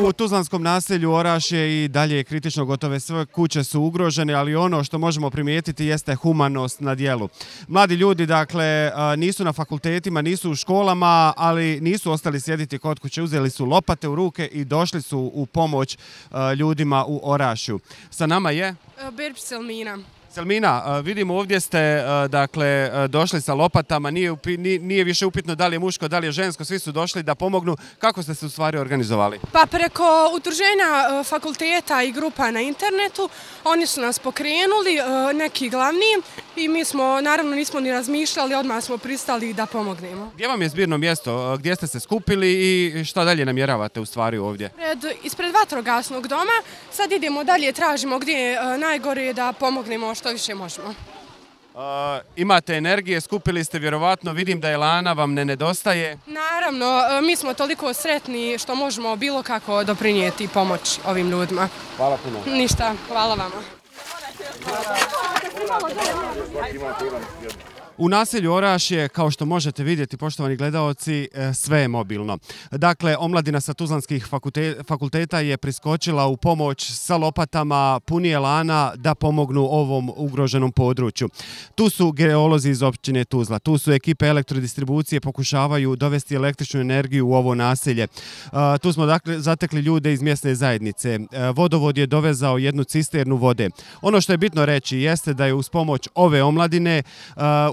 U tuzlanskom naselju Orašje i dalje je kritično, gotove sve kuće su ugrožene, ali ono što možemo primijetiti jeste humanost na djelu. Mladi ljudi, dakle, nisu na fakultetima, nisu u školama, ali nisu ostali sjediti kod kuće, uzeli su lopate u ruke i došli su u pomoć ljudima u Orašju. Sa nama je Berbić Selmina. Selmina, vidimo ovdje ste dakle, došli sa lopatama, nije više upitno da li je muško, da li je žensko, svi su došli da pomognu. Kako ste se u stvari organizovali? Pa preko udruženja fakulteta i grupa na internetu, oni su nas pokrenuli, neki glavni, i mi smo, naravno nismo ni razmišljali, odmah smo pristali da pomognemo. Gdje vam je zbirno mjesto? Gdje ste se skupili i šta dalje namjeravate u stvari ovdje? Ispred vatrogasnog doma, sad idemo dalje, tražimo gdje je najgore da pomognemo što više možemo. Imate energije, skupili ste vjerovatno, vidim da elana vam ne nedostaje. Naravno, mi smo toliko sretni što možemo bilo kako doprinijeti pomoć ovim ljudima. Hvala puno. Ništa, hvala vama. U naselju Orašje, kao što možete vidjeti, poštovani gledaoci, sve je mobilno. Dakle, omladina sa tuzlanskih fakulteta je priskočila u pomoć sa lopatama, puni elana da pomognu ovom ugroženom području. Tu su geolozi iz općine Tuzla, tu su ekipe elektrodistribucije, pokušavaju dovesti električnu energiju u ovo naselje. Tu smo dakle zatekli ljude iz mjesne zajednice. Vodovod je dovezao jednu cisternu vode. Ono što je bitno reći jeste da je uz pomoć ove omladine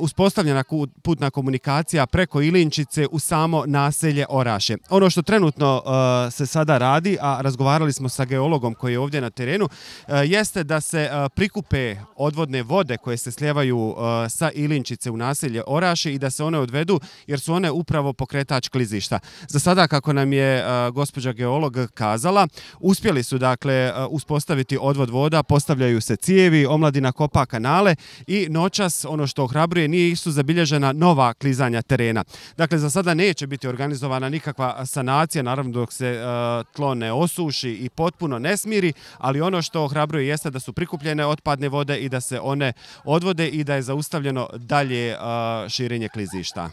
uspostavljena putna komunikacija preko Ilinčice u samo naselje Orašje. Ono što trenutno se sada radi, a razgovarali smo sa geologom koji je ovdje na terenu, jeste da se prikupe odvodne vode koje se slijevaju sa Ilinčice u naselje Orašje i da se one odvedu, jer su one upravo pokretač klizišta. Za sada, kako nam je gospođa geolog kazala, uspjeli su dakle uspostaviti odvod voda, postavljaju se cijevi, omladina kopa kanale i noćas, ono što ohrabruje, nisu zabilježena nova klizanja terena. Dakle, za sada neće biti organizovana nikakva sanacija, naravno dok se tlo ne osuši i potpuno ne smiri, ali ono što ohrabruje jeste da su prikupljene otpadne vode i da se one odvode i da je zaustavljeno dalje širenje klizišta.